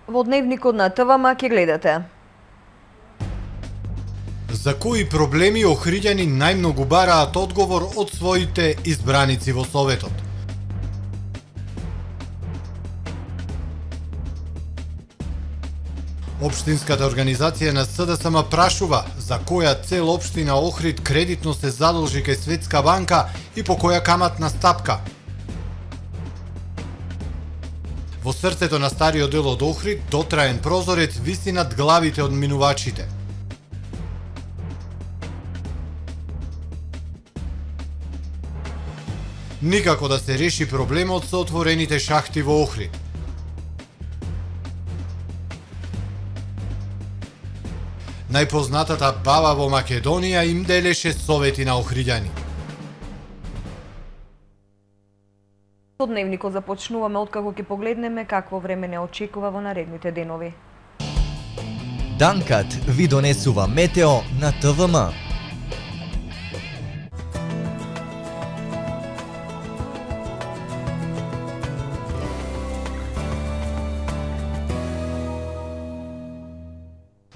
Во дневникот на ТВМ ќе гледате. За кои проблеми охриѓани најмногу бараат одговор од своите избраници во Советот? Општинската организација на СДСМ прашува за која цел општина Охрид кредитно се задолжи кај Светска банка и по која каматна стапка. Во срцето на стариот дел од Охрид дотраен прозорец виси над главите од минувачите. Никако да се реши проблемот со отворените шахти во Охрид. Најпознатата баба во Македонија им делеше совети на охриѓани. Со дневникот започнуваме откако ќе погледнеме какво време не очекува во наредните денови. Данкат ви донесува метео на ТВМ.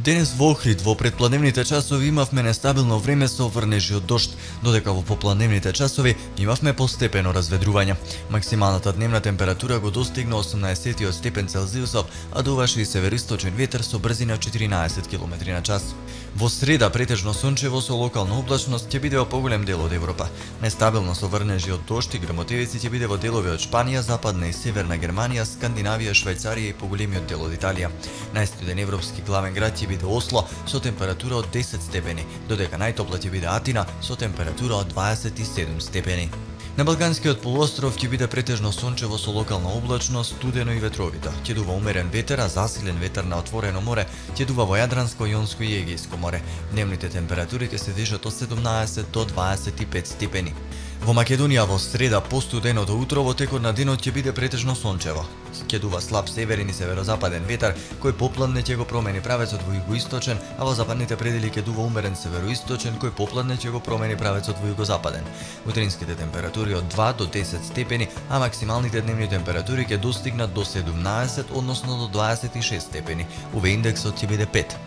Денес во Охрид во предпладневните часови имавме нестабилно време со врнежи од дожд, додека во попладневните часови имавме постепено разведрување. Максималната дневна температура го достигна 18 степен Целзиусов, а дуваше и североисточен ветер со брзина 14 км на час. Во среда претежно сончево со локална облачност ќе биде во поголем дел од Европа. Нестабилно со врнежи од дожд и грмотевици ќе биде во делови од Шпанија, западна и северна Германија, Скандинавија, Швајцарија и поголемиот дел од Италија. Најстуден европски главен град ќе биде Осло со температура од 10 степени, додека најтопла ќе биде Атина со температура од 27 степени. На Балканскиот полуостров ќе биде претежно сончево со локална облачност, студено и ветровито. Ќе дува умерен ветер, а засилен ветер на отворено море ќе дува во Јадранско, Јонско и Егејско море. Дневните температури ќе се движат од 17 до 25 степени. Во Македонија во среда постуденото утро во текот на денот ќе биде претежно сончево. Ќе дува слаб северен и северозападен ветер, кој попладне ќе го промени правецот во југоисточен, а во западните предели ќе дува умерен североисточен, кој попладне ќе го промени правецот во југозападен. Утринските температури од 2 до 10 степени, а максималните дневни температури ќе достигнат до 17, односно до 26 степени. УВ индексот ќе биде 5.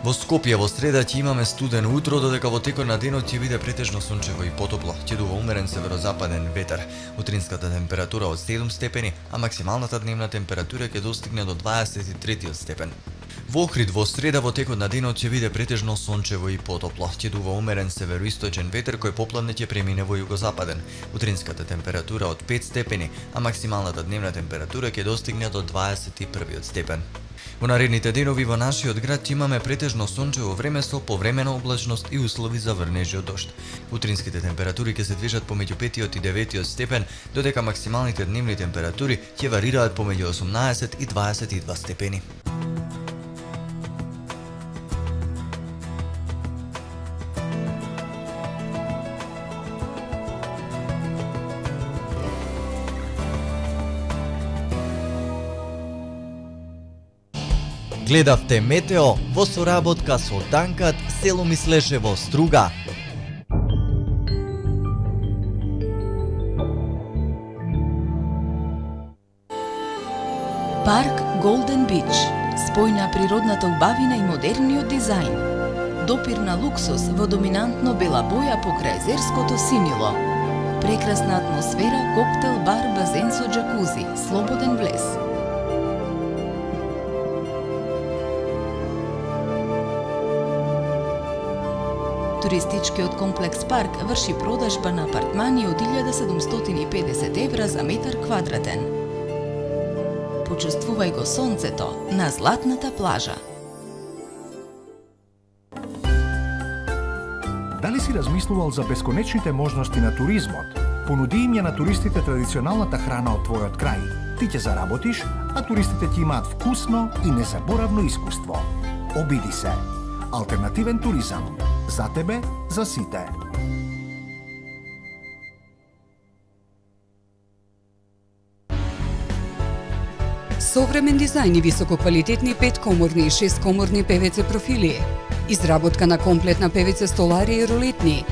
Во Скопје во среда ќе имаме студено утро, додека во текот на денот ќе биде претежно сончево и потопло. Ќе дува умерен северозападен ветер. Утринската температура од 7 степени, а максималната дневна температура ќе достигне до 23 степен. Во Охрид во среда во текот на денот ќе биде претежно сончево и потопло. Ќе дува умерен североисточен ветер кој попладне ќе премине во југозападен. Утринската температура од 5 степени, а максималната дневна температура ќе достигне до 21 степен. Во наредните денови во нашиот град ќе имаме претежно сончево време со повремена облачност и услови за врнежи од дожд. Утринските температури ќе се движат помеѓу 5 и 9 степен, додека максималните дневни температури ќе варираат помеѓу 18 и 22 степени. Гледавте метео во соработка со Данкат, село Мислешево, Струга. Парк Голден Бич. Спој на природната убавина и модерниот дизајн. Допир на луксус во доминантно бела боја покрај езерското синило. Прекрасна атмосфера, коктел, бар, базен со џакузи, слободен влез. Туристичкиот комплекс Парк врши продажба на апартмани од 1750 евра за метар квадратен. Почувствувај го сонцето на златната плажа. Дали си размислувал за бесконечните можности на туризмот? Понуди им ја на туристите традиционалната храна од твојот крај. Ти ќе заработиш, а туристите ќе имаат вкусно и незаборавно искуство. Обиди се. Алтернативен туризам. За тебе, за сите. Современ дизајн и висококвалитетни 5-коморни и 6-коморни ПВЦ профили. Изработка на комплетна ПВЦ столари и рулетни.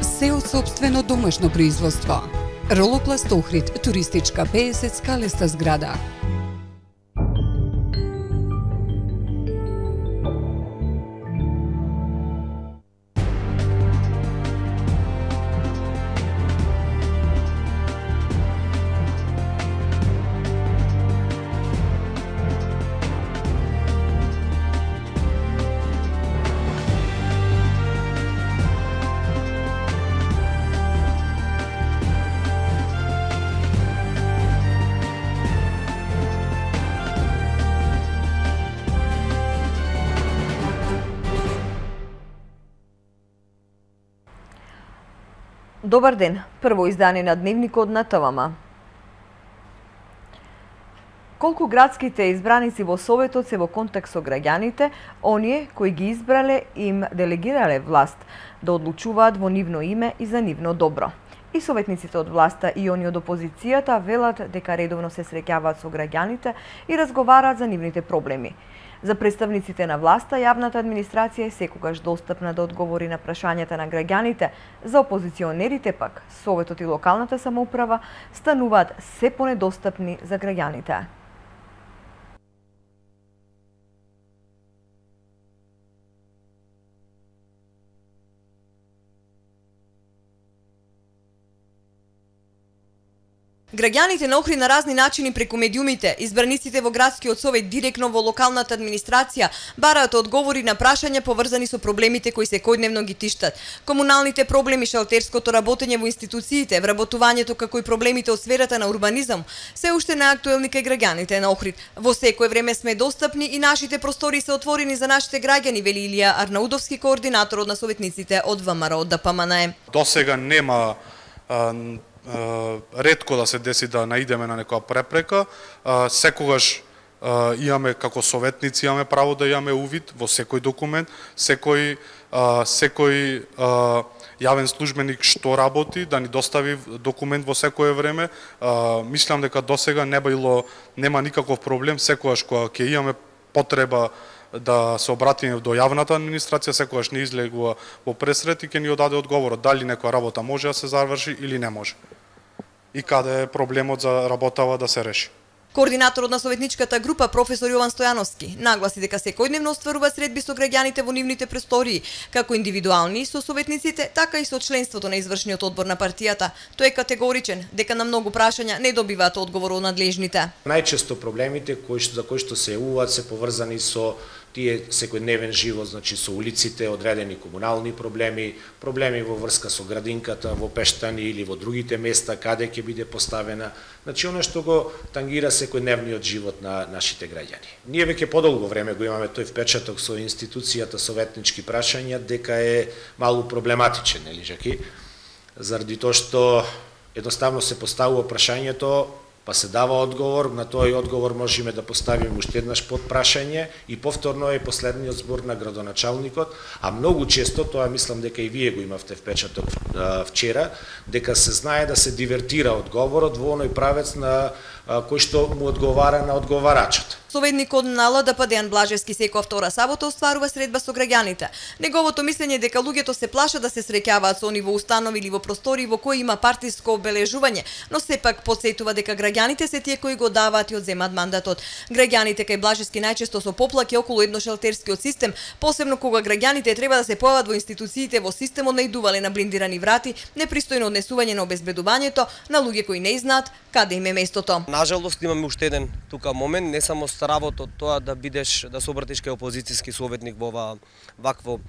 Се од сопствено домашно производство. Ролопласт Охрид, туристичка 50 скалеста зграда. Добар ден, прво издание на Дневникот на ТВМ. Колку градските избраници во Советот се во контакт со граѓаните, оние кои ги избрале им делегирале власт да одлучуваат во нивно име и за нивно добро. И советниците од власта и они од опозицијата велат дека редовно се среќаваат со граѓаните и разговараат за нивните проблеми. За представниците на власта, јавната администрација е секогаш достапна да одговори на прашањата на граѓаните. За опозиционерите пак, Советот и локалната самоуправа стануваат се понедостапни за граѓаните. Граѓаните на Охрид на разни начини преку медиумите, избраниците во градскиот совет директно во локалната администрација бараат одговори на прашања поврзани со проблемите кои секојдневно ги тиштат. Комуналните проблеми, шалтерското работење во институциите, вработувањето како и проблемите од сферата на урбанизам се уште наактуелни кај граѓаните на Охрид. Во секое време сме достапни и нашите простори се отворени за нашите граѓани, вели Илија Арнаудовски, координатор на советниците од ВМРО ДПМН. Досега нема ретко да се деси да наидеме на некоја препрека, секогаш имаме како советници имаме право да имаме увид во секој документ, секој јавен службеник што работи да ни достави документ во секое време. Мислам дека досега нема никаков проблем, секогаш кога ќе имаме потреба да се обратиме до јавната администрација, секогаш не излегува во пресрет и ќе ни одаде одговорот дали некоја работа може да се заврши или не може. И каде е проблемот за работава да се реши. Координаторот на советничката група, професор Јован Стојановски, нагласи дека секојдневно остварува средби со граѓаните во нивните простории, како индивидуални со советниците, така и со членството на извршниот одбор на партијата. Тој е категоричен дека на многу прашања не добиваат одговор од надлежните. Најчесто проблемите за кои што се јавуваат се поврзани со тие секојдневен живот, значи со улиците, одредени комунални проблеми, проблеми во врска со градинката, во Пештани или во другите места каде ќе биде поставена, значи она што го тангира секојдневниот живот на нашите граѓани. Ние веќе подолго време го имаме тој впечаток со институцијата советнички прашања дека е малку проблематичен, нели Жаки? Заради тоа што едноставно се поставува прашањето, па се дава одговор, на тој одговор можеме да поставиме уште еднаш подпрашање и повторно е последниот збор на градоначалникот, а многу често, тоа мислам дека и вие го имавте впечаток вчера, дека се знае да се дивертира одговорот во оној правец на кој што му одговара на одговарачот. Советникот на ЛДП Дејан Блажевски секоја втора сабота остварува средба со граѓаните. Неговото мислење е дека луѓето се плашат да се среќаваат со они во установи или во простори во кои има партиско обележување, но сепак потсетува дека граѓаните се тие кои го даваат и одземаат мандатот. Граѓаните кај Блажевски најчесто со поплаки околу едношелтерскиот систем, посебно кога граѓаните треба да се појават во институциите во системот наидувале на блиндирани врати, непристојно однесување на обезбедувањето на луѓе кои не знаат каде им е местото. Нажалост имаме уште еден тука момент, не само стравото тоа да бидеш, да се обратиш кај опозицијски советник во вакво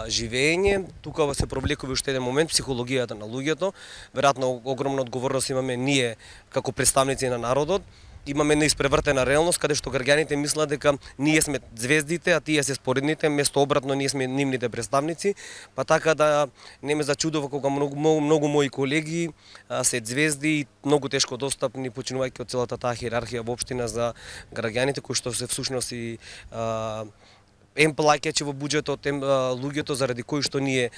живење, тука се провлекува уште еден момент психологијата на луѓето. Веројатно огромна одговорност имаме ние како представници на народот. Имаме неиспревртена реалност каде што граѓаните мислат дека ние сме звездите, а тие се споредните, место обратно ние сме нивните представници, па така да не ме зачудува кога многу мои колеги се звезди и многу тешко достапни, починувајќи од целата таа хиерархија во општина за граѓаните кои што се всушност и плаќачи во буџетот, луѓето заради кои што ние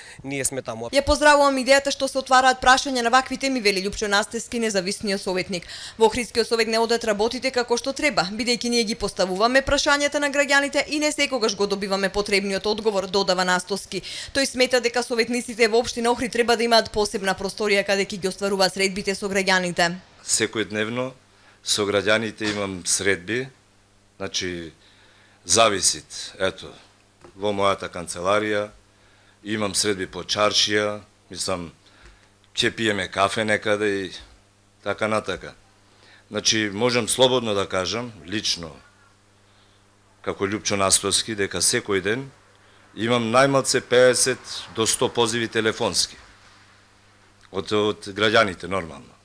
сме таму. Ја поздравувам идејата што се отвараат прашања на вакви теми, вели Љупчо Настевски, независниот советник. Во Охридскиот совет не одат работите како што треба, бидејќи ние ги поставуваме прашањата на граѓаните и не секогаш го добиваме потребниот одговор, додава Настовски. Тој смета дека советниците во општина Охрид треба да имаат посебна просторија каде ќе ги остваруваат средбите со граѓаните. Секојдневно со граѓаните имам средби, значи зависит, ето, во мојата канцеларија, имам средби по чаршија, мислам, ќе пиеме кафе некаде и така натака. Значи, можам слободно да кажам, лично, како Љупчо Настовски, дека секој ден имам најмалце 50 до 100 позиви телефонски од граѓаните, нормално.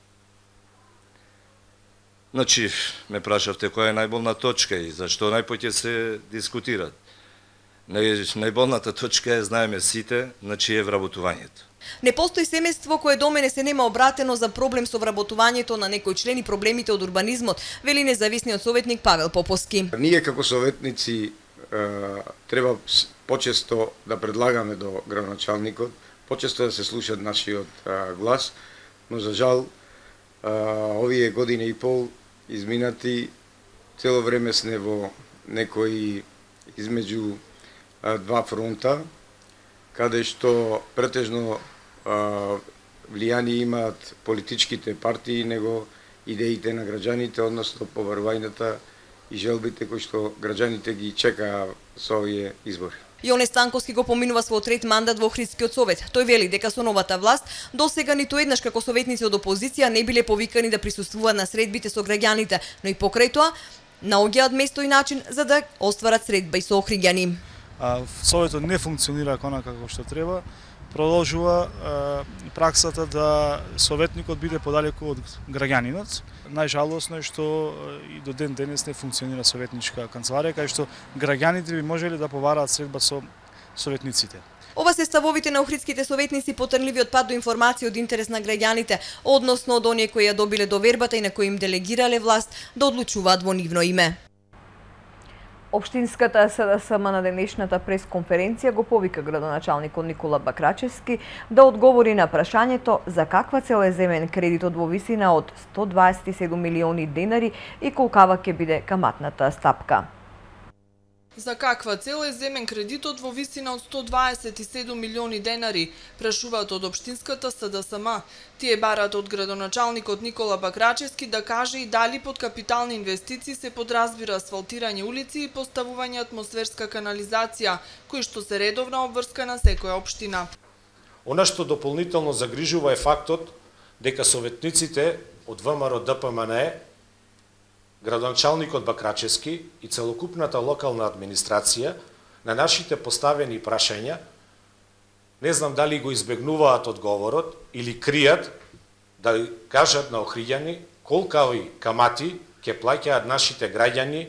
Значи, ме прашавте која е најболна точка и зашто најпоќе се дискутираат. Најболната точка е, знаеме сите, значи е вработувањето. Не постои семејство кое до мене се нема обратено за проблем со вработувањето на некој член и проблемите од урбанизмот, вели независниот советник Павел Поповски. Ние како советници треба почесто да предлагаме до градоначалникот, почесто да се слушат нашиот глас, но за жал овие година и пол изминати, цело време сме во некои измеѓу два фронта, каде што претежно влијание имаат политичките партии, него идеите на граѓаните, односно побарувањата и желбите кои што граѓаните ги чекаа со овие избори. Јоне Станковски го поминува својот трет мандат во Охридскиот совет. Тој вели дека со новата власт досега ниту еднаш како советници од опозиција не биле повикани да присуствуваат на средбите со граѓаните, но и покрај тоа наоѓаат место и начин за да остварат средба и со охриѓани. Советот не функционира онака како што треба. Продолжува праксата да советникот биде подалеку од граѓанинот. Најжалосно е што и до ден денес не функционира советничка канцеларија, кај што граѓаните би можеле да побараат средба со советниците. Ова се ставовите на охридските советници по трнливиот пат до информација од интерес на граѓаните, односно од оние кои ја добиле довербата и на кои им делегирале власт да одлучуваат во нивно име. Општинската СДСМ на денешната пресконференција го повика градоначалникот Никола Бакрачевски да одговори на прашањето за каква цел е земен кредитот во висина од 127 милиони денари и колкава ќе биде каматната стапка. За каква цел е земен кредитот во висина од 127 милиони денари, прашуваат од општинската СДСМ. Тие барат од градоначалникот Никола Бакрачевски да каже и дали под капитални инвестиции се подразбира асфалтирање улици и поставување атмосферска канализација, кои што се редовна обврска на секоја општина. Она што дополнително загрижува е фактот дека советниците од ВМРО ДПМН, градоначалникот Бакрачевски и целокупната локална администрација на нашите поставени прашања, не знам дали го избегнуваат одговорот или кријат да кажат на охриѓани колкави камати ќе плаќаат нашите граѓани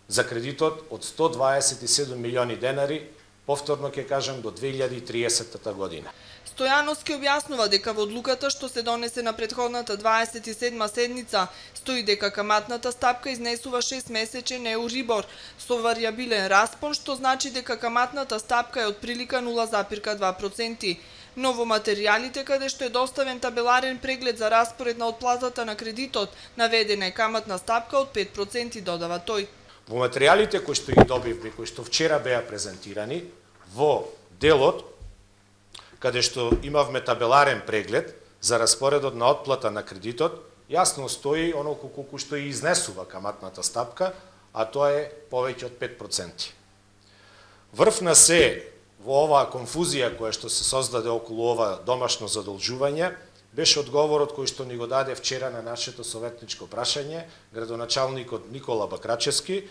за кредитот од 127 милиони денари, повторно ќе кажам до 2030 година. Стојановски објаснува дека во одлуката што се донесе на претходната 27-ма седница стои дека каматната стапка изнесува 6-месечен еурибор со варијабилен распон, што значи дека каматната стапка е од прилика 0,2%. Но во материјалите каде што е доставен табеларен преглед за распоред на отплатата на кредитот, наведена е каматна стапка од 5%, додава тој. Во материјалите кои што ги добивме, кои што вчера беа презентирани, во делот каде што имавме табеларен преглед за распоредот на отплата на кредитот, јасно стои оноко колку што и изнесува каматната стапка, а тоа е повеќе од 5%. Врв на се во оваа конфузија која што се создаде околу ова домашно задолжување, беше одговорот кој што ни го даде вчера на нашето советничко прашање градоначалникот Никола Бакрачевски,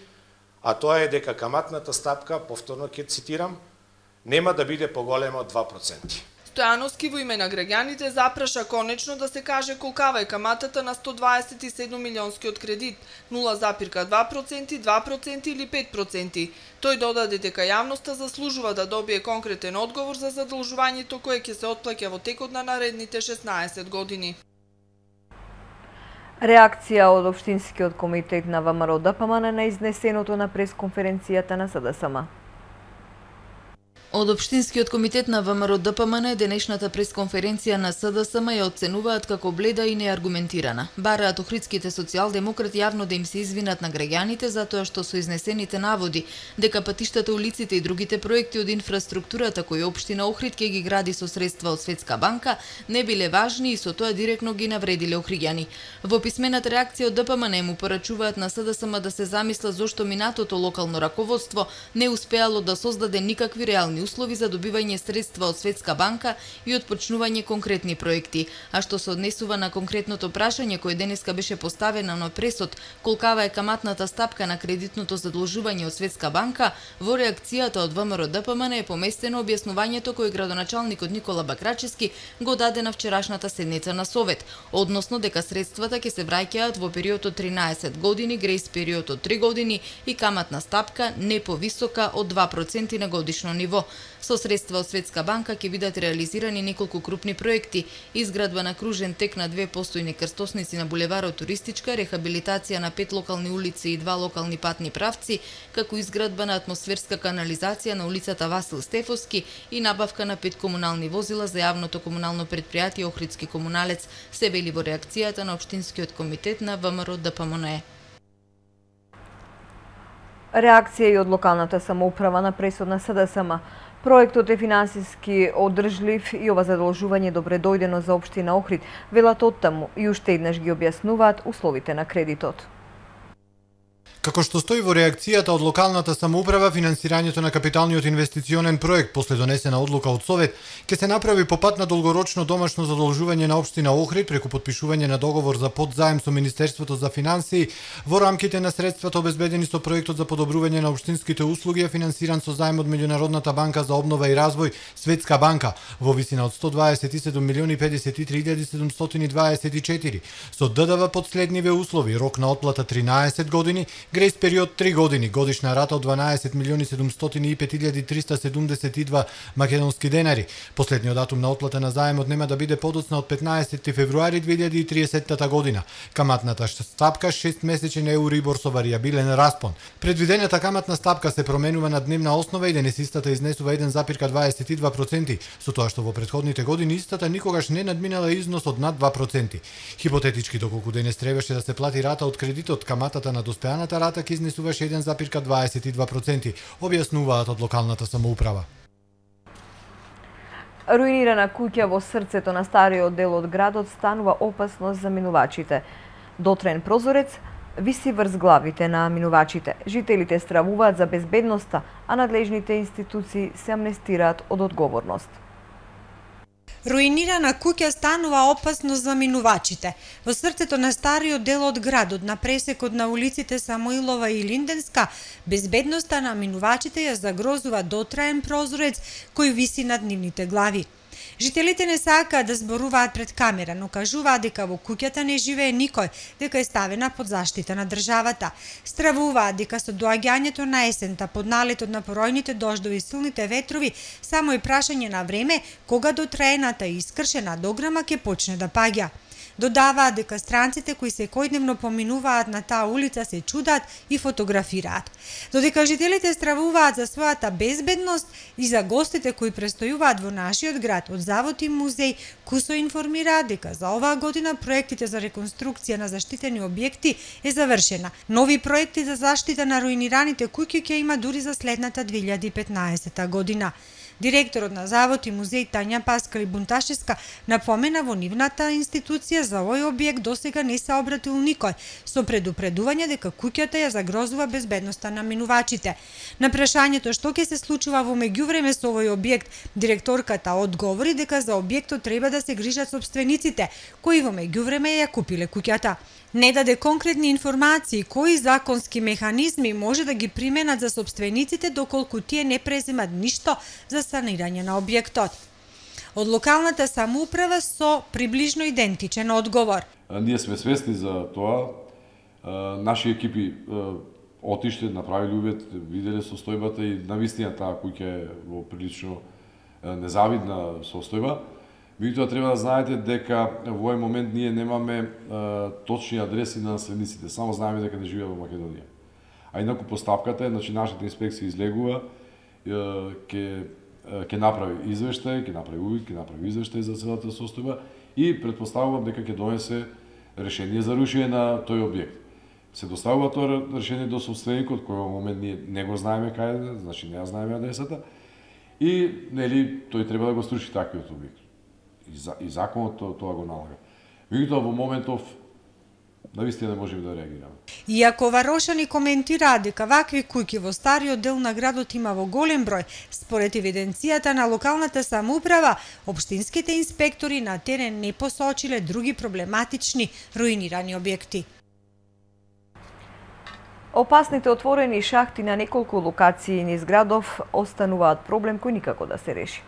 а тоа е дека каматната стапка, повторно ќе цитирам, нема да биде поголема од 2%. Стојановски во име на граѓаните запраша конечно да се каже колкава е каматата на 127 милионскиот кредит, 0,2%, 2% или 5%. Тој додаде дека јавноста заслужува да добие конкретен одговор за задолжувањето кое ќе се отплаќа во текот на наредните 16 години. Реакција од Општинскиот комитет на ВМРО ДПМН на изнесеното на пресконференцијата на СДСМ. Од Општинскиот комитет на ВМРО ДПМН денешната пресконференција на СДСМ ја оценуваат како бледа и неаргументирана. Бараат охридските социјалдемократи јавно да им се извинат на граѓаните затоа што со изнесените наводи дека патиштата, улиците и другите проекти од инфраструктурата кои општина Охрид ќе ги гради со средства од Светска банка не биле важни и со тоа директно ги навредиле охриѓани. Во писмената реакција од ДПМН му порачуваат на СДСМ да се замисла зошто минатото локално раководство не успеало да создаде никакви реални услови за добивање средства од Светска банка и отпочнување конкретни проекти. А што се однесува на конкретното прашање кое денеска беше поставено на пресод, колкава е каматната стапка на кредитното задолжување од Светска банка, во реакцијата од ВМРО ДПМН е поместено објаснувањето кое градоначалникот Никола Бакрачевски го даде на вчерашната седница на Совет, односно дека средствата ќе се враќаат во период од 13 години, грејс период од 3 години и каматна стапка не повисока од 2% на годишно ниво. Со средства од Светска банка ќе бидат реализирани неколку крупни проекти: изградба на кружен тек на 2 постојни крстосници на булеварот Туристичка, рехабилитација на 5 локални улици и 2 локални патни правци, како изградба на атмосферска канализација на улицата Васил Стефовски и набавка на 5 комунални возила за јавното комунално претпријатие Охридски комуналец, се вели во реакцијата на Општинскиот комитет на ВМРО ДПМН. Реакција и од локалната самоуправа на пресод на СДСМ. Проектот е финансиски одржлив и ова задолжување добре дојдено за општина Охрид, велат оттаму и уште еднаш ги објаснуваат условите на кредитот. Како што стои во реакцијата од локалната самоуправа, финансирањето на капиталниот инвестиционен проект после донесена одлука од Совет ќе се направи по пат на долгорочно домашно задолжување на општина Охрид преку потпишување на договор за подзаем со Министерството за финансии во рамките на средствата обезбедени со проектот за подобрување на општинските услуги, финансиран со заем од Меѓународната банка за обнова и развој Светска банка во висина од 127.053.724 со ДДВ под следниве услови: рок на отплата 13 години, грејс период 3 години, годишна рата од 12.705.372 македонски денари. Последниот датум на отплата на заемот нема да биде подоцна од 15 февруари 2030 година. Каматната стапка 6 месечен еурибор со варијабилен распон. Предвидената каматна стапка се променува на дневна основа и денес истата изнесува 1,22%, со тоа што во претходните години истата никогаш не надминала износ од над 2%. Хипотетички, доколку денес требаше да се плати рата од кредитот, каматата на доспеаната рата ќе изнесуваше 1,22%, објаснуваат од локалната самоуправа. Руинирана куќа во срцето на стариот дел од градот станува опасност за минувачите. Дотраен прозорец виси врз главите на минувачите. Жителите стравуваат за безбедноста, а надлежните институции се амнестираат од одговорност. Руинирана куќа станува опасност за минувачите. Во срцето на стариот дел од градот, на пресекот на улиците Самоилова и Линденска, безбедноста на минувачите ја загрозува дотраен прозорец кој виси над нивните глави. Жителите не сакаат да зборуваат пред камера, но кажуваат дека во куќата не живее никој, дека е ставена под заштита на државата. Стравуваат дека со доаѓањето на есента, под налетот на поројните дождови и силните ветрови, само е прашање на време кога дотраената и искршена дограма ќе почне да паѓа. Додаваат дека странците кои секојдневно поминуваат на таа улица се чудаат и фотографираат. Додека жителите стравуваат за својата безбедност и за гостите кои престојуваат во нашиот град, од Завод и музеј Кусо информираат дека за оваа година проектите за реконструкција на заштитени објекти е завршена. Нови проекти за заштита на руинираните куќи ќе има дури за следната 2015 година. Директорот на Завод и музеј Тања Паскали Бунташевска напомена во нивната институција за овој објект досега не се обратил никој, со предупредување дека куќата ја загрозува безбедноста на минувачите. На прашањето што ќе се случува во меѓувреме со овој објект, директорката одговори дека за објектот треба да се грижат сопствениците, кои во меѓувреме ја купиле куќата. Не даде конкретни информации кои законски механизми може да ги применат за сопствениците доколку тие не преземат ништо за санирање на објектот. Од локалната самоуправа со приближно идентичен одговор. Ние сме свесни за тоа. Наши екипи отиште, направиле увид, виделе состојбата и навистина таа куќа е во прилично незавидна состојба. Меѓутоа треба да знаете дека во овој момент ние немаме точни адреси на наследниците, само знаеме дека не живеат во Македонија. А инаку постапката е, значи нашата инспекција излегува, ќе ќе направи извештај, ќе направи увид, ќе направи извештај за целата состојба и претпоставувам дека ќе донесе решение за рушење на тој објект. Се доставува тоа решение до собственикот, кој во момент ние не го знаеме каде е, значи не ја знаеме адресата, и нели тој треба да го струши таквиот објект. И законот тоа го налага. Меѓутоа во моментов навистина не можеме да реагираме. Иако варошани коментираат дека вакви куќи во стариот дел на градот има во голем број, според евиденцијата на локалната самоуправа, општинските инспектори на терен не посочиле други проблематични руинирани објекти. Опасните отворени шахти на неколку локации низ градов остануваат проблем кој никако да се реши.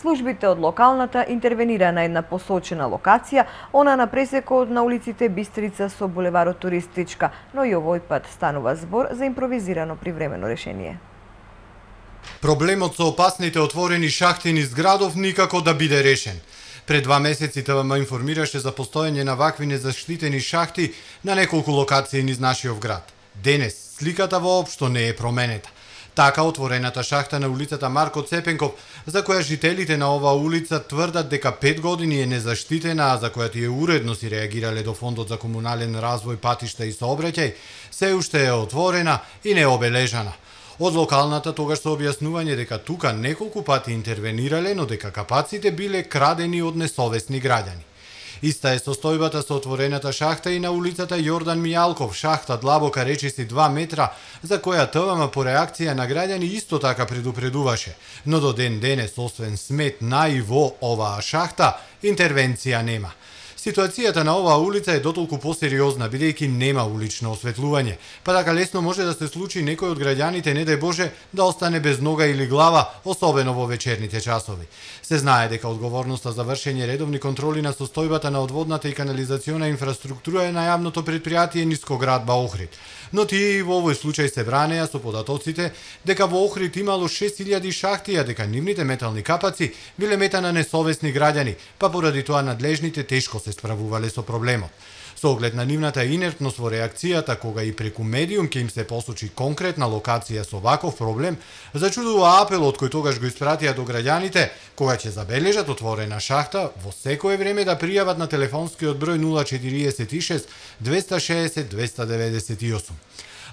Службите од локалната интервенира на една посочена локација, она на пресекот на улиците Бистрица со булеварот Туристичка, но и овој пат станува збор за импровизирано привремено решение. Проблемот со опасните отворени шахти низ градов никако да биде решен. Пред 2 месеци ТВМ информираше за постоење на вакви незаштитени шахти на неколку локации низ нашиот град. Денес сликата воопшто не е променета. Така отворената шахта на улицата Марко Цепенков, за која жителите на оваа улица тврдат дека 5 години е незаштитена, а за која тие уредно си реагирале до Фондот за комунален развој, патишта и сообраќај, се уште е отворена и необележана. Од локалната тогаш со објаснување дека тука неколку пати интервенирале, но дека капаците биле крадени од несовесни граѓани. Иста е состојбата со отворената шахта и на улицата Јордан Мијалков, шахта длабока речиси 2 метра, за која ТВМ по реакција на граѓани исто така предупредуваше. Но до ден денес, освен смет на и во оваа шахта, интервенција нема. Ситуацијата на оваа улица е дотолку посериозна, бидејќи нема улично осветлување, па така лесно може да се случи некој од граѓаните, не дај Боже, да остане без нога или глава, особено во вечерните часови. Се знае дека одговорноста за вршење редовни контроли на состојбата на одводната и канализациона инфраструктура е на јавното претпријатие Нискоградба Охрид. Но тие и во овој случај се бранеа со податоците дека во Охрид имало 6000 шахти, а дека нивните метални капаци биле мета на несовесни граѓани, па поради тоа надлежните тешко се справувале со проблемот. Со оглед на нивната инертност во реакцијата, кога и преку медиум ќе им се посочи конкретна локација со ваков проблем, зачудува апелот кој тогаш го испратија до граѓаните, кога ќе забележат отворена шахта, во секое време да пријават на телефонскиот број 046 260 298.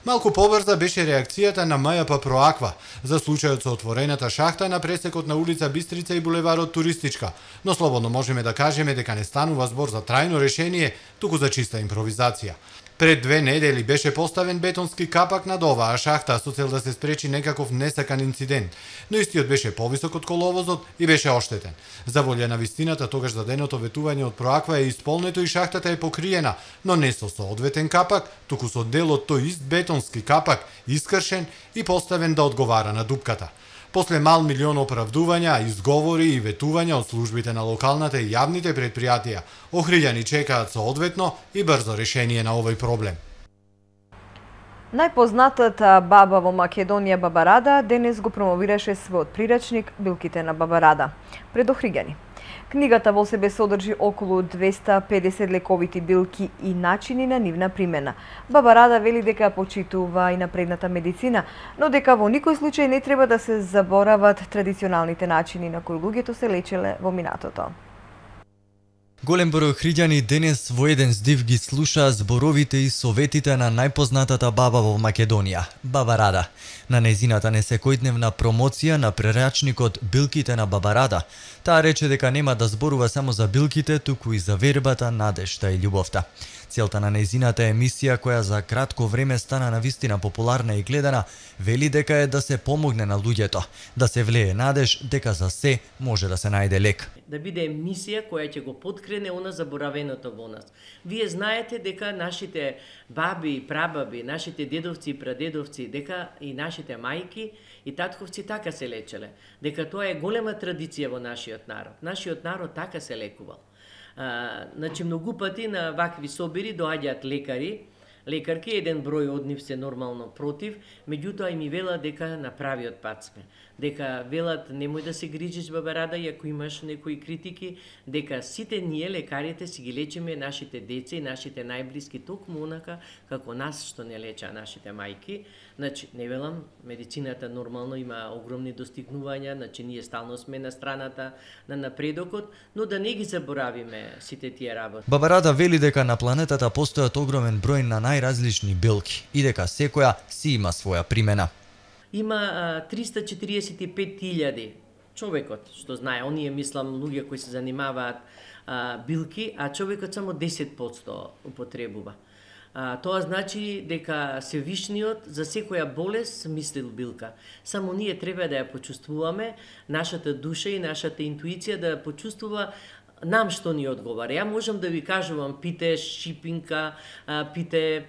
Малку побрза беше реакцијата на МЈП Проаква за случајот со отворената шахта на пресекот на улица Бистрица и булеварот Туристичка, но слободно можеме да кажеме дека не станува збор за трајно решение, туку за чиста импровизација. Пред 2 недели беше поставен бетонски капак над оваа шахта со цел да се спречи некаков несакан инцидент, но истиот беше повисок од коловозот и беше оштетен. За волја на вистината, тогаш заденото ветување од Проаква е исполнето и шахтата е покриена, но не со соодветен капак, туку со дел од тој ист бетонски капак, искршен и поставен да одговара на дупката. После мал милион оправдувања, изговори и ветувања од службите на локалната и јавните претпријатија, охриѓани чекаат соодветно и брзо решение на овој проблем. Најпознатата баба во Македонија, Баба Рада, денес го промовираше својот прирачник Билките на Баба Рада пред охриѓани. Книгата во себе содржи околу 250 лековити билки и начини на нивна примена. Баба Рада вели дека почитува и напредната медицина, но дека во никој случај не треба да се заборават традиционалните начини на кои луѓето се лечеле во минатото. Голем број охриѓани денес во еден здив ги слушаа зборовите и советите на најпознатата баба во Македонија, Баба Рада. На незината несекојдневна промоција на прерачникот Билките на Баба Рада, таа рече дека нема да зборува само за билките, туку и за вербата, надежта и љубовта. Целта на незината емисија, која за кратко време стана навистина популарна и гледана, вели дека е да се помогне на луѓето, да се влее надеж дека за се може да се најде лек. Да биде емисија која ќе го поткрене она заборавеното во нас. Вие знаете дека нашите баби и прабаби, нашите дедовци и прадедовци, дека и нашите мајки и татковци така се лечеле. Дека тоа е голема традиција во нашиот народ. Нашиот народ така се лекувал. Значи, многу пати на вакви собири доаѓаат лекари лекарки, еден број од нив се нормално против, меѓутоа и ми велат дека на правиот пат сме. Дека велат немој да се грижиш, баба Рада, и ако имаш некои критики, дека сите ние лекарите си ги лечиме нашите деца и нашите најблиски токму онака како нас што не леча нашите мајки. Значи, не велам, медицината нормално има огромни достигнувања, значи ние стално сме на страната на напредокот, но да не ги заборавиме сите тие работи. Баба Рада вели дека на планетата постојат огромен број на најразлични билки и дека секоја си има своја примена. Има 345.000 човекот, што знае, оние мислам луѓе кои се занимаваат билки, а човекот само 10% употребува. Тоа значи дека Севишниот за секоја болест мислил билка. Само ние треба да ја почувствуваме, нашата душа и нашата интуиција да ја почувствува нам што ни одговара. Ја можам да ви кажувам, пите шипинка, пите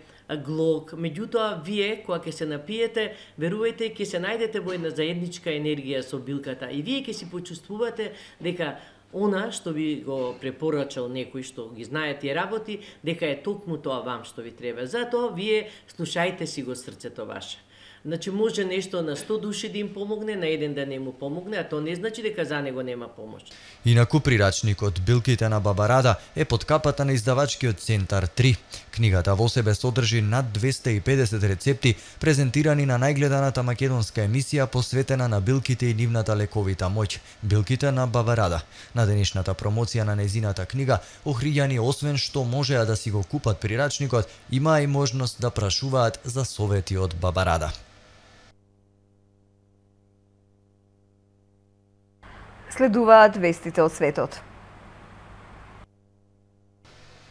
глок, меѓутоа вие кога ќе се напиете, верувајте, ќе се најдете во една заедничка енергија со билката и вие ќе си почувствувате дека она што ви го препорачал некој што ги знае тие работи, дека е токму тоа вам што ви треба. Затоа вие слушајте си го срцето ваше. Значи може нешто на 100 души да им помогне, на еден да не му помогне, а тоа не значи дека за него нема помош. Инаку прирачникот Билките на Баба Рада е под капата на издавачкиот Центар 3. Книгата во себе содржи над 250 рецепти презентирани на најгледаната македонска емисија посветена на билките и нивната лековита моќ. Билките на Баба Рада. На денешната промоција на незината книга охриѓани освен што можеа да си го купат прирачникот, има и можност да прашуваат за совети од Баба Рада. Следуваат вестите од светот.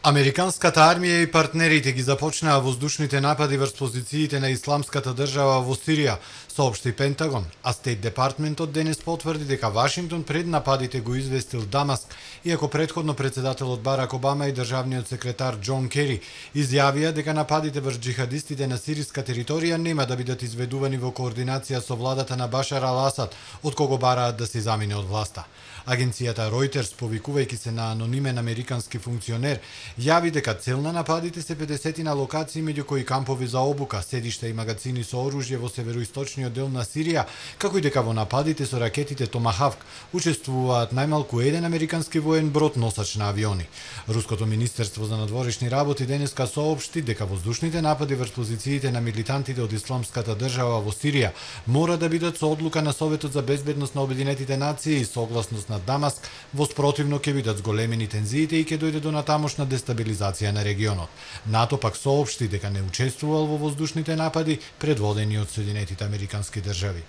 Американската армија и партнерите ги започнаа воздушните напади врз позициите на Исламската држава во Сирија, соопшти Пентагон, а Стейт Департментот денес потврди дека Вашингтон пред нападите го известил Дамаск, иако претходно председателот Барак Обама и државниот секретар Џон Кери изјавија дека нападите врз џихадистите на сириска територија нема да бидат изведувани во координација со владата на Башар ал-Асад, од кого бараат да се замине од власта. Агенцијата Reuters, повикувајќи се на анонимен американски функционер, јави дека цел на нападите се 50 на локации меѓу кои кампови за обука, седишта и магазини со оружје во североисточниот дел на Сирија, како и дека во нападите со ракетите Томахавк учествуваат најмалку еден американски воен брод носач на авиони. Руското министерство за надворешни работи денеска соопшти дека воздушните напади врз позициите на милитантите од Исламската држава во Сирија мора да бидат со одлука на Советот за безбедност на Обединетите нации и согласност на Дамаск, во спротивно ќе бидат зголемени тензиите и ќе дојде до натамошна дестабилизација на регионот. НАТО пак соопшти дека не учествувал во воздушните напади предводени од Соединетите американски држави.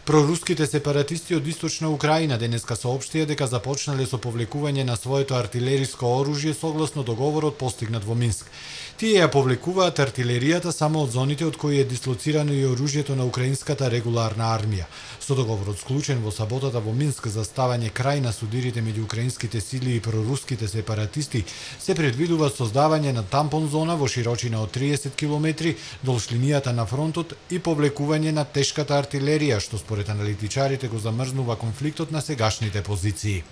Проруските сепаратисти од Источна Украина денеска соопштија дека започнале со повлекување на своето артилериско оружје согласно договорот постигнат во Минск. Тие ја повлекуваат артилеријата само од зоните од кои е дислоцирано и оружјето на украинската регуларна армија. Со договорот склучен во саботата во Минск за ставање крај на судирите меѓу украинските сили и проруските сепаратисти, се предвидува создавање на тампон зона во широчина од 30 км долж линијата на фронтот и повлекување на тешката артилерија, што според аналитичарите го замрзнува конфликтот на сегашните позиции.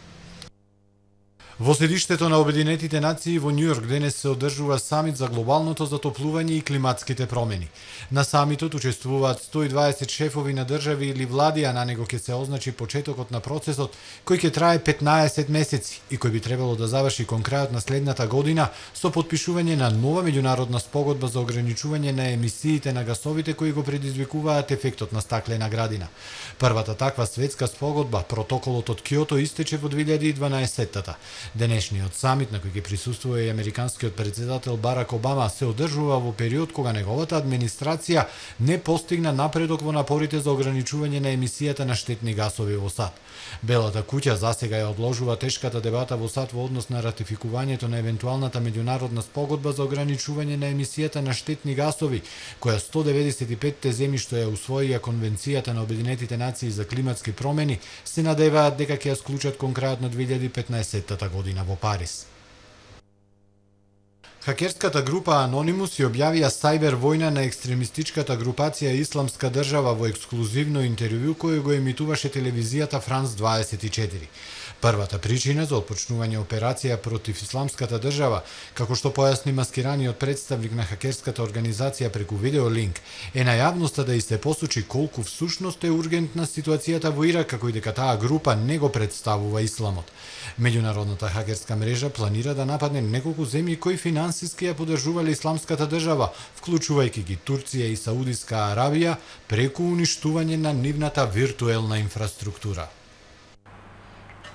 Во седиштето на Обединетите нации во Њујорк денес се одржува самит за глобалното затоплување и климатските промени. На самитот учествуваат 120 шефови на држави или влади, а на него ќе се означи почетокот на процесот кој ќе трае 15 месеци и кој би требало да заврши кон крајот на следната година со потпишување на нова меѓународна спогодба за ограничување на емисиите на гасовите кои го предизвикуваат ефектот на стаклена градина. Првата таква светска спогодба, протоколот од Киото, истече во 2012-тата. Денешниот самит, на кој ќе присуствува и американскиот председател Барак Обама, се одржува во период кога неговата администрација не постигна напредок во напорите за ограничување на емисијата на штетни гасови во САД. Белата куќа засега ја одложува тешката дебата во САД во однос на ратификувањето на евентуалната меѓународна спогодба за ограничување на емисијата на штетни гасови, која 195 земји што ја усвоија Конвенцијата на Обединетите нации за климатски промени се надеваат дека ќе ја склучат кон крајот на 2015 година во Париз. Хакерската група Anonymous ја објавија сајбер војна на екстремистичката групација Исламска држава во ексклузивно интервју кој го емитуваше телевизијата Франс 24. Првата причина за отпочнување операција против исламската држава, како што појасни маскираниот представник на хакерската организација преку видеолинк, е на јавноста да и се посочи колку всушност е ургентна ситуацијата во Ирак, како и дека таа група не го представува исламот. Меѓународната хакерска мрежа планира да нападне неколку земји кои финансиски ја поддржувале исламската држава, вклучувајќи ги Турција и Саудиска Арабија, преку уништување на нивната виртуелна инфраструктура.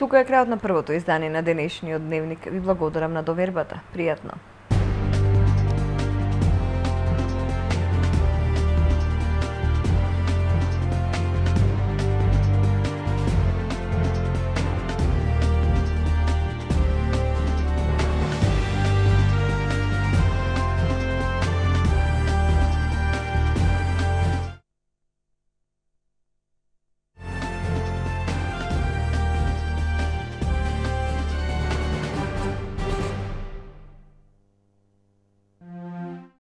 Тука е крајот на првото издание на денешниот дневник. Ви благодарам на довербата. Пријатно.